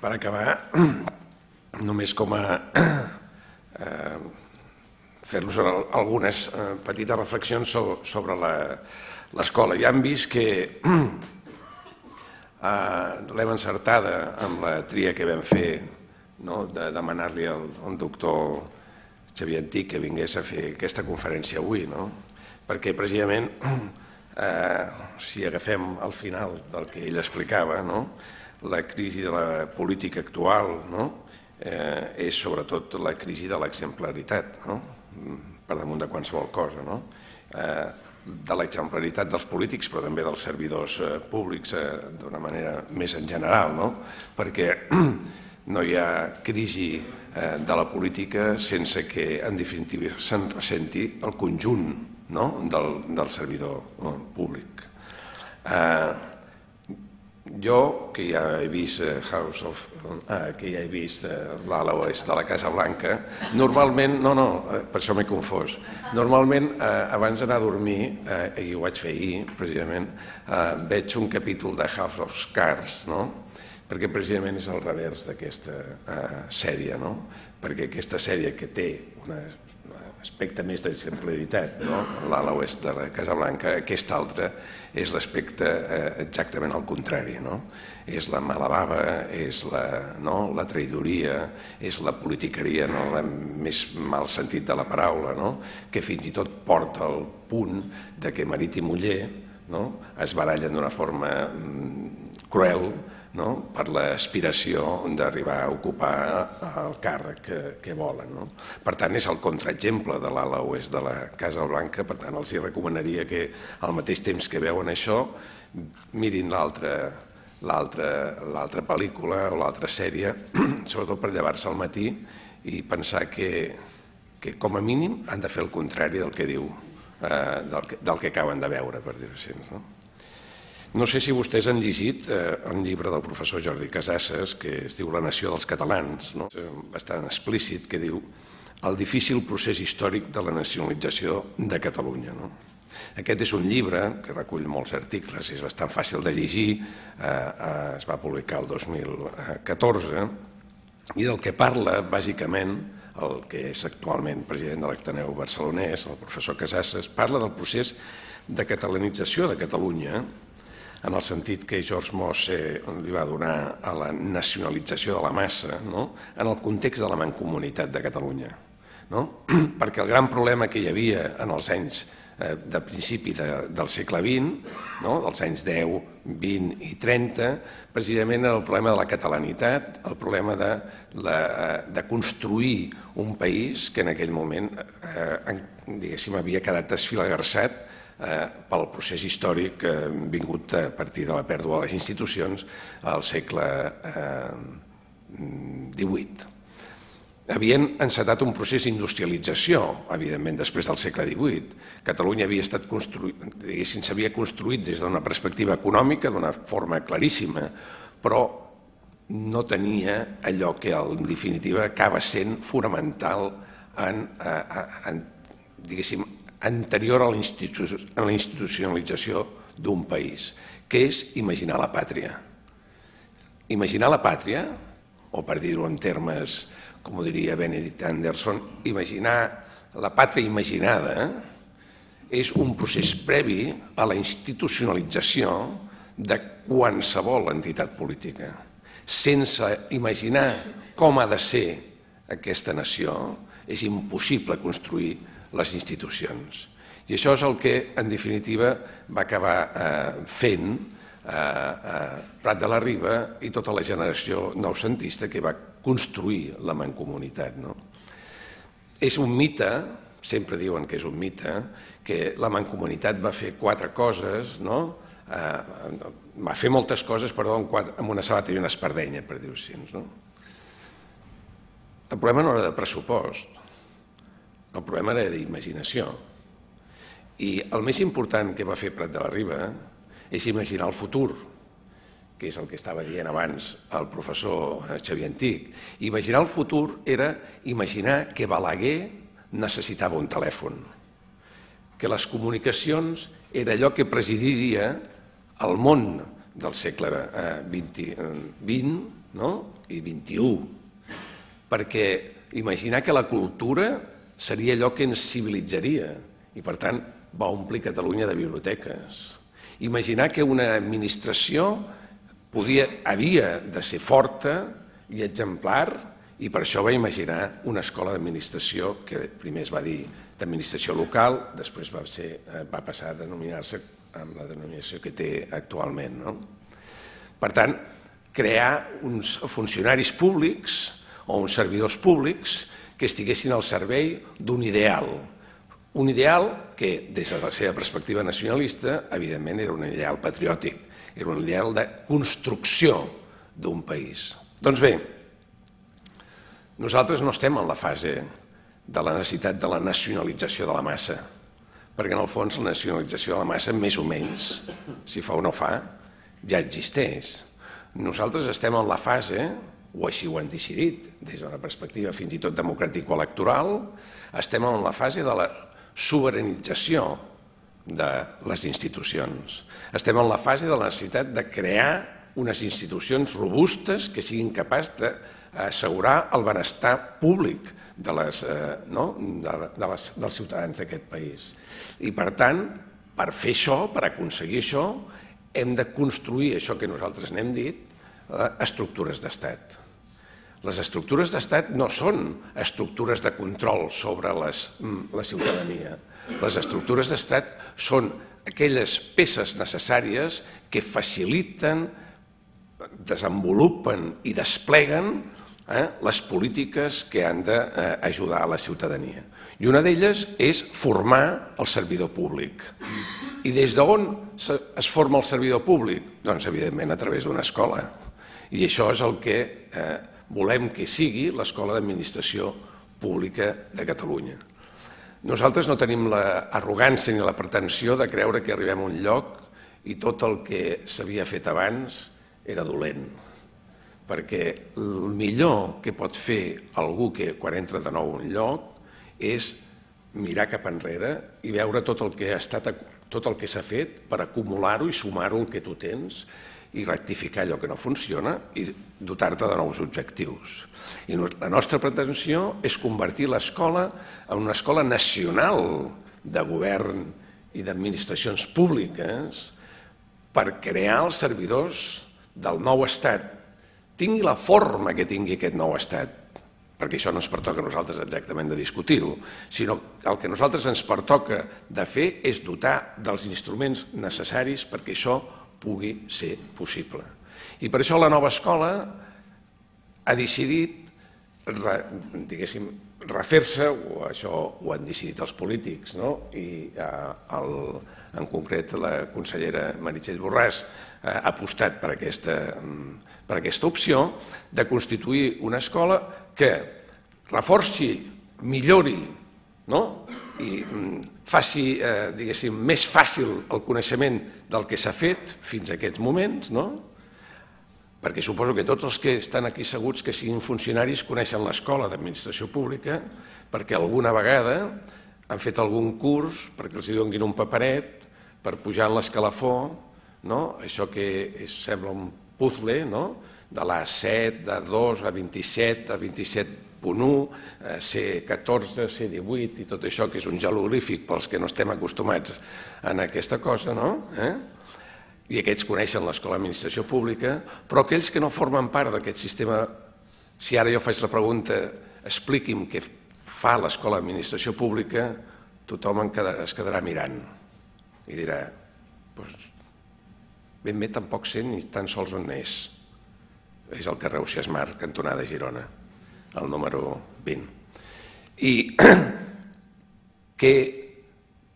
Per acabar, només com a fer-los algunes petites reflexions sobre l'escola. Ja hem vist que l'hem encertada amb la tria que vam fer de demanar-li al doctor Xavier Antich que vingués a fer aquesta conferència avui, perquè precisament, si agafem al final del que ell explicava, la crisi de la política actual és sobretot la crisi de l'exemplaritat, per damunt de qualsevol cosa, de l'exemplaritat dels polítics, però també dels servidors públics d'una manera més en general, perquè no hi ha crisi de la política sense que, en definitiva, se'n ressenti el conjunt del servidor públic. Jo, que ja he vist l'ala oest de la Casa Blanca, normalment, per això m'he confós, normalment abans d'anar a dormir, i ho vaig fer ahir precisament, veig un capítol de House of Cards, perquè precisament és al revers d'aquesta sèrie, perquè aquesta sèrie que té un aspecte més d'exemplaritat, l'ala oest de la Casa Blanca, aquesta altra és l'aspecte exactament al contrari, és la mala bava, és la traïdoria, és la politiqueria en el més mal sentit de la paraula, que fins i tot porta al punt que marit i muller es barallen d'una forma cruel per l'aspiració d'arribar a ocupar el càrrec que volen. Per tant, és el contraexemple de l'ala oest de la Casa Blanca, per tant, els recomanaria que al mateix temps que veuen això, mirin l'altra pel·lícula o l'altra sèrie, sobretot per llevar-se al matí i pensar que com a mínim han de fer el contrari del que diu, del que acaben de veure, per dir-ho així. No sé si vostès han llegit un llibre del professor Jordi Casassas que es diu La nació dels catalans, bastant explícit, que diu el difícil procés històric de la nacionalització de Catalunya. Aquest és un llibre que recull molts articles, és bastant fàcil de llegir, es va publicar el 2014, i del que parla, bàsicament, el que és actualment president de l'Ateneu Barcelonès, el professor Casassas, parla del procés de catalanització de Catalunya, en el sentit que George Mosse li va donar a la nacionalització de la massa, en el context de la mancomunitat de Catalunya. Perquè el gran problema que hi havia en els anys de principi del segle XX, dels anys 10, 20 i 30, precisament era el problema de la catalanitat, el problema de construir un país que en aquell moment, diguéssim, havia quedat desfilagarçat pel procés històric vingut a partir de la pèrdua de les institucions al segle XVIII. Havien encetat un procés d'industrialització, evidentment, després del segle XVIII. Catalunya havia estat construït, diguéssim, s'havia construït des d'una perspectiva econòmica, d'una forma claríssima, però no tenia allò que, en definitiva, acaba sent fonamental diguéssim, anterior a la institucionalització d'un país, que és imaginar la pàtria. Imaginar la pàtria, o per dir-ho en termes, com ho diria Benedict Anderson, imaginar la pàtria imaginada és un procés previ a la institucionalització de qualsevol entitat política. Sense imaginar com ha de ser aquesta nació, és impossible construir les institucions. I això és el que, en definitiva, va acabar fent Prat de la Riba i tota la generació noucentista que va construir la mancomunitat. És un mite, sempre diuen que és un mite, que la mancomunitat va fer 4 coses, va fer moltes coses, però amb una sabata i una espardenya, per dir-ho així. El problema no era de pressupost, el problema era d'imaginació. I el més important que va fer Prat de la Riba és imaginar el futur, que és el que estava dient abans el professor Xavier Antich. Imaginar el futur era imaginar que Balaguer necessitava un telèfon, que les comunicacions era allò que presidiria el món del segle XX i XXI. Perquè imaginar que la cultura seria allò que ens civilitzaria i, per tant, va omplir Catalunya de biblioteques. Imaginar que una administració havia de ser forta i exemplar, i per això va imaginar una escola d'administració que primer es va dir d'administració local, després va passar a denominar-se amb la denominació que té actualment. Per tant, crear uns funcionaris públics o uns servidors públics que estiguessin al servei d'un ideal. Un ideal que, des de la seva perspectiva nacionalista, evidentment era un ideal patriòtic, era un ideal de construcció d'un país. Doncs bé, nosaltres no estem en la fase de la necessitat de la nacionalització de la massa, perquè en el fons la nacionalització de la massa, més o menys, si fa o no fa, ja existeix. Nosaltres estem en la fase, o així ho han decidit, des d'una perspectiva fins i tot democràtic-electoral, estem en la fase de la sobiranització de les institucions. Estem en la fase de la necessitat de crear unes institucions robustes que siguin capaces d'assegurar el benestar públic dels ciutadans d'aquest país. I, per tant, per fer això, per aconseguir això, hem de construir això que nosaltres n'hem dit, estructures d'estat. Les estructures d'estat no són estructures de control sobre la ciutadania. Les estructures d'estat són aquelles peces necessàries que faciliten, desenvolupen i despleguen les polítiques que han d'ajudar a la ciutadania. I una d'elles és formar el servidor públic. I des d'on es forma el servidor públic? Doncs, evidentment, a través d'una escola. I això és el que volem que sigui l'Escola d'Administració Pública de Catalunya. Nosaltres no tenim l'arrogància ni la pretensió de creure que arribem a un lloc i tot el que s'havia fet abans era dolent. Perquè el millor que pot fer algú que quan entra de nou a un lloc és mirar cap enrere i veure tot el que s'ha fet per acumular-ho i sumar-ho al que tu tens i rectificar allò que no funciona i dotar-te de nous objectius. I la nostra pretensió és convertir l'escola en una escola nacional de govern i d'administracions públiques per crear els servidors del nou estat, tingui la forma que tingui aquest nou estat, perquè això no ens pertoca a nosaltres exactament de discutir-ho, sinó que el que a nosaltres ens pertoca de fer és dotar dels instruments necessaris perquè això pugui ser possible. I per això la nova escola ha decidit, diguéssim, refer-se, o això ho han decidit els polítics, i en concret la consellera Meritxell Borràs ha apostat per aquesta opció de constituir una escola que reforci, millori i faci, diguéssim, més fàcil el coneixement del que s'ha fet fins a aquests moments, perquè suposo que tots els que estan aquí asseguts que siguin funcionaris coneixen l'Escola d'Administració Pública perquè alguna vegada han fet algun curs perquè els donin un paperet per pujar en l'escalafó, això que sembla un puzzle, de l'A7, d'A2, A27, A27.1, C14, C18 i tot això que és un jeroglífic pels que no estem acostumats a aquesta cosa, i aquests coneixen l'Escola d'Administració Pública, però aquells que no formen part d'aquest sistema, si ara jo faig la pregunta, expliqui'm què fa l'Escola d'Administració Pública, tothom es quedarà mirant i dirà, doncs ben bé tampoc sé ni tan sols on és. És el carrer Ausiàs Marc, cantonada Girona, el número 20. I què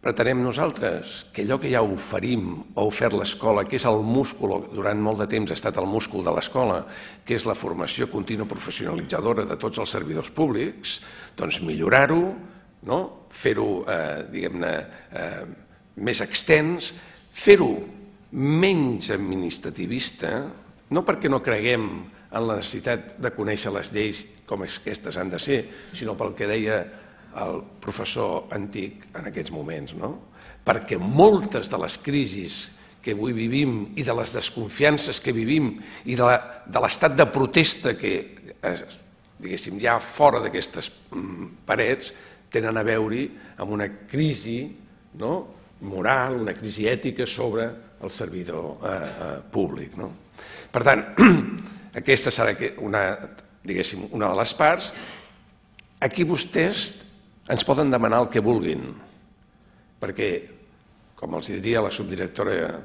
pretenem nosaltres? Que allò que ja oferim o ha ofert l'escola, que és el múscul, durant molt de temps ha estat el múscul de l'escola, que és la formació contínua professionalitzadora de tots els servidors públics, doncs millorar-ho, fer-ho, diguem-ne, més extens, fer-ho menys administrativista, no perquè no creguem en la necessitat de conèixer les lleis com aquestes han de ser, sinó pel que deia el professor antic en aquests moments, perquè moltes de les crisis que avui vivim i de les desconfiances que vivim i de l'estat de protesta que, diguéssim, hi ha fora d'aquestes parets, tenen a veure amb una crisi moral, una crisi ètica sobre el servidor públic. Per tant, aquesta serà una de les parts. Aquí vostès ens poden demanar el que vulguin, perquè, com els diria la subdirectora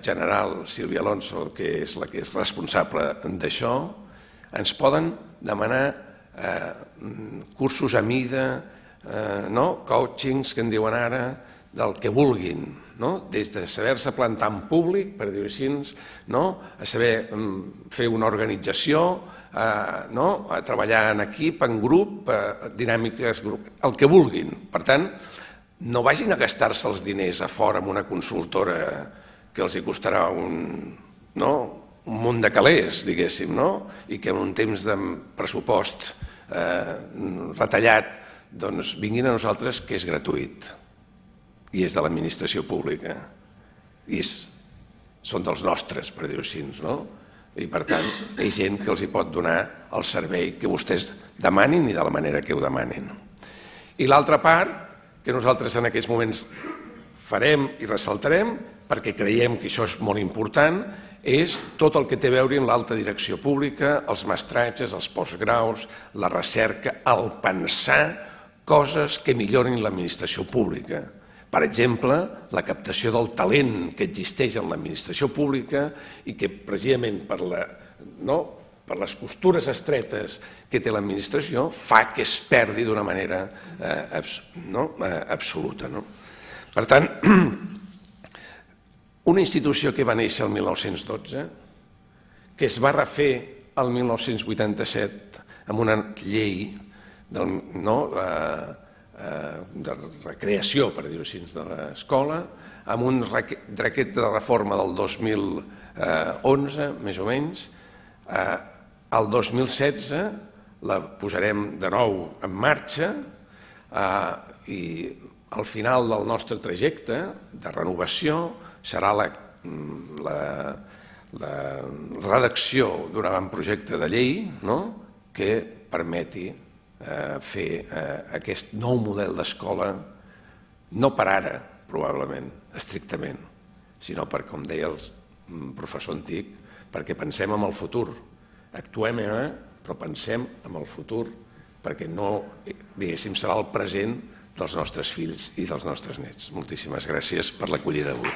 general Sílvia Alonso, que és la que és responsable d'això, ens poden demanar cursos a mida, coachings, que en diuen ara, del que vulguin, des de saber-se plantar en públic, per dir-ho així, a saber fer una organització, a treballar en equip, en grup, dinàmiques, el que vulguin. Per tant, no vagin a gastar-se els diners a fora amb una consultora que els costarà un munt de calés, diguéssim, i que en un temps de pressupost retallat vinguin a nosaltres, que és gratuït i és de l'administració pública i són dels nostres, per dir-ho així, i per tant hi ha gent que els pot donar el servei que vostès demanin i de la manera que ho demanin. I l'altra part que nosaltres en aquests moments farem i ressaltarem, perquè creiem que això és molt important, és tot el que té a veure amb l'alta direcció pública, els mestratges, els postgraus, la recerca, el pensar coses que millorin l'administració pública. Per exemple, la captació del talent que existeix en l'administració pública i que precisament per les costures estretes que té l'administració fa que es perdi d'una manera absoluta. Per tant, una institució que va néixer el 1912, que es va refer el 1987 amb una llei de recreació, per dir-ho així, de l'escola, amb un decret de reforma del 2011, més o menys. El 2016 la posarem de nou en marxa i al final del nostre trajecte de renovació serà la redacció d'un avantprojecte de llei que permeti fer aquest nou model d'escola, no per ara, probablement, estrictament, sinó per, com deia el professor antic, perquè pensem en el futur. Actuem ara, però pensem en el futur, perquè no, diguéssim, serà el present dels nostres fills i dels nostres nets. Moltíssimes gràcies per l'acollida d'avui.